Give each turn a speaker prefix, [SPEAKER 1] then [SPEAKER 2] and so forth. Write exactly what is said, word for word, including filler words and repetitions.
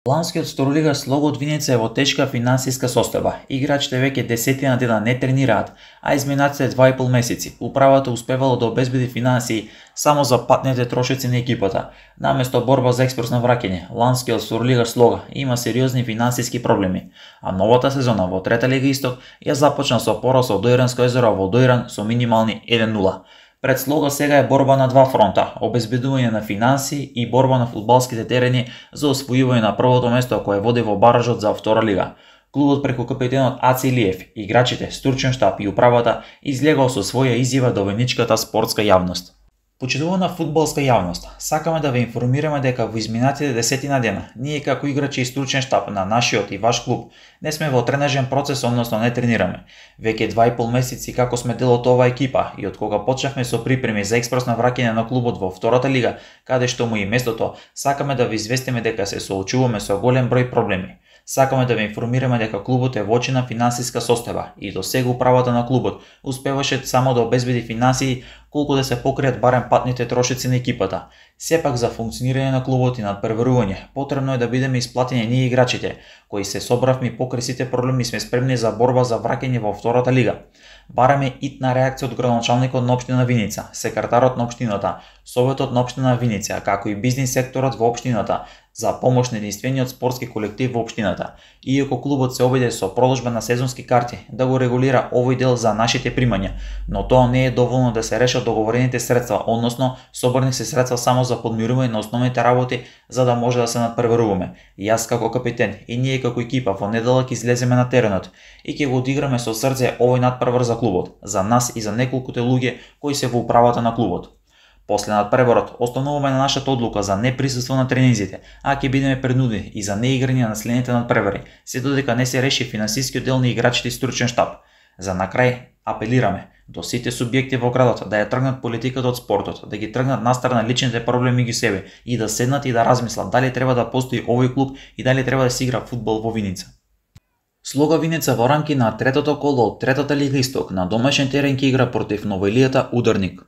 [SPEAKER 1] Ланскиот второлигаш Слого од Виница е во тешка финансиска состојба. Играчите веќе десетина дена не тренираат, а изминатите два и пол месеци управата успевало да обезбеди финансии само за патните трошици на екипата. Наместо борба за експресно враќање, Ланскиот второлигаш Слого има сериозни финансиски проблеми, а новата сезона во Трета лига Исток ја започна со пораз од Дојранско езеро во Дојран со минимални еден нула. Пред Слого сега е борба на два фронта, обезбедување на финанси и борба на фудбалските терени за освојување на првото место кое води во баражот за втора лига. Клубот преку капитенот Аци Илиев, играчите, стручен штаб и управата излегал со своја изјава до војничката спортска јавност. Почитувана фудбалска јавност, сакаме да ве информираме дека во изминатите десетина дена, ние како играчи и стручен штаб на нашиот и ваш клуб не сме во тренажен процес, односно не тренираме. Веќе два и пол месеци како сме дел од оваа екипа и од кога почнавме со припреми за експресно враќање на клубот во втората лига, каде што му и местото, сакаме да ви известиме дека се соочуваме со голем број проблеми. Сакаме да ве информираме дека клубот е во очина финансиска состојба и до сега управата на клубот успеваше само да обезбеди финансии колку да се покријат барем патните трошици на екипата. Сепак за функционирање на клубот и надпреварување, потребно е да бидеме исплатени ние играчите, кои се собравме покрај сите проблеми, сме спремни за борба за враќање во втората лига. Бараме итна реакција од градоначалникот на општина Виница, секретарот на општината, советот на општина Виница, како и бизнис секторот во општината за помош на единствениот спортски колектив во општината. Иако клубот се обиде со продолжба на сезонски карти да го регулира овој дел за нашите примања, но тоа не е доволно да се решат договорените средства, односно собрани се средства само за подмирување на основните работи за да може да се надпреваруваме. Јас како капитен и ние како екипа во неделак излеземе на теренот и ќе го одиграме со срце овој надпревар за клубот, за нас и за неколкуте луѓе кои се во управата на клубот. После надпреварот остануваме на нашата одлука за неприсуство на тренинзите, а ќе бидеме принудени и за неиграње на следните надпревари, се додека не се реши финансискиот дел на играчите и стручен штаб. За на крај апелираме до сите субјекти во градот да ја тргнат политиката од спортот, да ги тргнат настрана личните проблеми ги себе и да седнат и да размислат дали треба да постои овој клуб и дали треба да се игра фудбал во Виница. Слого Виница во рамки на третото коло од Третата лига Исток на домашен терен ќе игра против Новоилијата Ударник.